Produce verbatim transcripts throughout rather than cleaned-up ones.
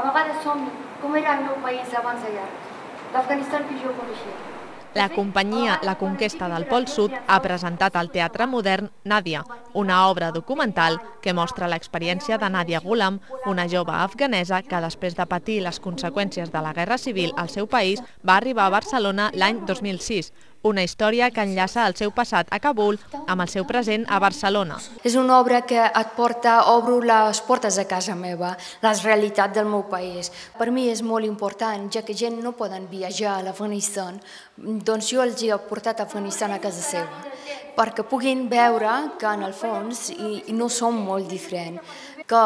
A vegades somni com era el meu país abans de guerra, l'Afganistan que jo coneixia. La companyia La Conquesta del Pol Sud ha presentat al Teatre Modern Nàdia, una obra documental que mostra l'experiència de Nàdia Ghulam, una jove afganesa que després de patir les conseqüències de la Guerra Civil al seu país va arribar a Barcelona l'any dos mil sis. Una història que enllaça el seu passat a Kabul amb el seu present a Barcelona. És una obra que et porta, obro les portes a casa meva, la realitat del meu país. Per mi és molt important, ja que gent no poden viatjar a l'Afganistan, doncs jo els he portat a Afganistan a casa seva, perquè puguin veure que en el fons i no som molt diferents, que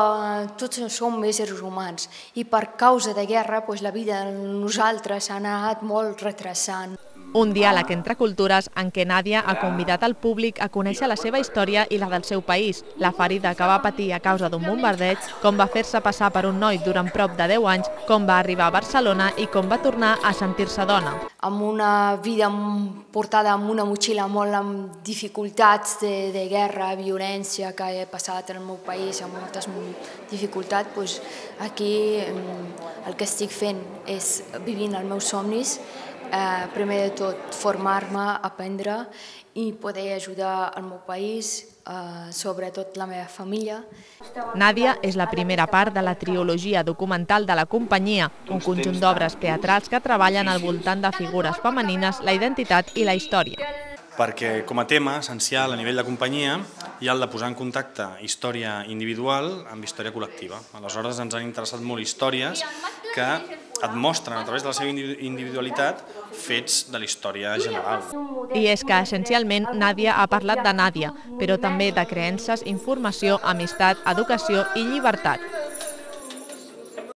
tots som éssers humans i per causa de guerra la vida de nosaltres s'ha anat molt retrasant. Un diàleg entre cultures en què Nàdia ha convidat al públic a conèixer la seva història i la del seu país, la ferida que va patir a causa d'un bombardeig, com va fer-se passar per un noi durant prop de deu anys, com va arribar a Barcelona i com va tornar a sentir-se dona. Amb una vida portada amb una motxilla molt amb dificultats de, de guerra, violència que he passat en el meu país, amb moltes dificultats, doncs aquí el que estic fent és vivint els meus somnis, Eh, primer de tot formar-me, aprendre i poder ajudar el meu país, eh, sobretot la meva família. Nàdia és la primera part de la trilogia documental de la companyia, un conjunt d'obres teatrals que treballen al voltant de figures femenines, la identitat i la història. Perquè com a tema essencial a nivell de companyia hi ha el de posar en contacte història individual amb història col·lectiva. Aleshores ens han interessat molt històries que et mostren a través de la seva individualitat fets de la història general. I és que essencialment Nàdia ha parlat de Nàdia, però també de creences, informació, amistat, educació i llibertat.